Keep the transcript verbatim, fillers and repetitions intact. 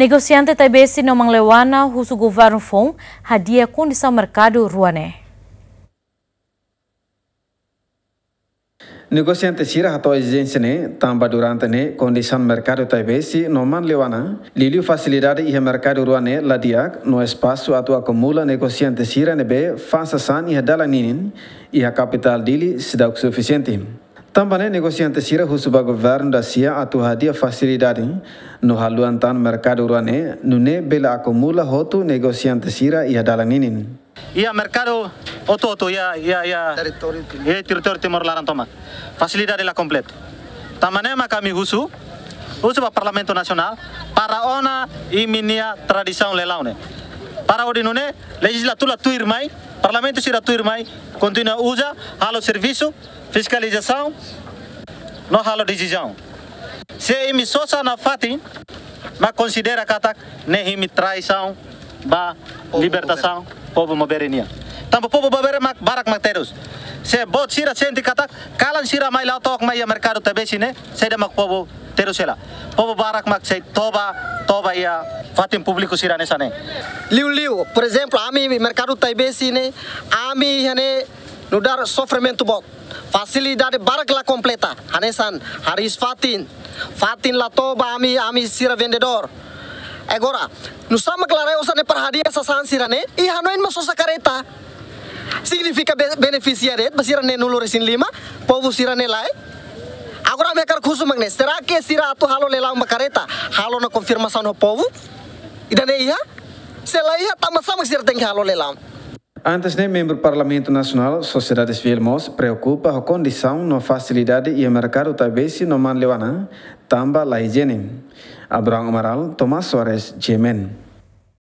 Negosiante Taibesi no Manleuana husu governu foun hadi'a kondisaun merkadu rua ne'e. Negosiante sira hato'o ezijénsia ne'e tanba durante ne'e kondisaun merkadu Taibesi no Manleuana, liuliu fasilidade iha merkadu rua ne'e la di'ak no espasu atu akumula negosiante sira ne'ebé fa'an sasán iha dalan ninin iha kapitál Dili seidauk sufisiente. Tanba ne'e negosiante sira husu ba governu dasia atu hadi'a fasilidade no haluha tan merkadu rua ne'e, nune'e bele akumula hotu negosiante sira iha dalan ninin. Iha merkadu hotu-hotu iha, iha, iha, iha territóriu Timor laran tomak. Fasilidade la kompletu. Tanba ne'e mak ami husu, husu ba Parlamentu Nasionál para ona imi-nia tradisaun leilaun ne'e. Para hodi nune'e lejizlatura tuirmai, parlamentu sira tuirmai kontinua uza, halo servisu, fiskalizasaun no halo desizaun. Se imi sosa nafatin mak konsidera katak ne'e imi traisaun ba libertasaun povu maubere nian. Tanba povu maubere mak barak mak terus. Se boot sira sente katak kalan sira mai la'o took mai iha merkadu Taibesi ne'e, saida mak povu terus hela. Povu barak mak sei toba, toba iha fatin públiku sira hanesan ne'e. Liuliu, por ezemplu, ami merkadu Taibesi ne'e, ami iha ne'e nu'udar sofrimentu boot. Fasilidade barak la kompleta. Hanesan hariis fatin, fatin la toba ami, ami sira vendedór. Agora, nusá mak la rai osan ne'e para hadi'a sasán sira-ne'e, i hanoin mak sosa kareta. Signifika be-, benefisia de'it ba sira neenulu-resin-lima, povu sira-ne'e lae. Agora ami hakarak husu mak ne'e, será que sira atu halo leilaun ba kareta, halo ona konfirmasaun ho povu? Ida-ne'e iha? Se la iha, tanbasá mak sira tenke halo leilaun? Antes ne'e, membru Parlamentu Nasionál, sosiedade sivíl mós preokupa ho kondisaun no fasilidade iha merkadu Taibesi no Manleuana, tanba la ijiene. Abraham Amaral, Tomás Soares, G M N.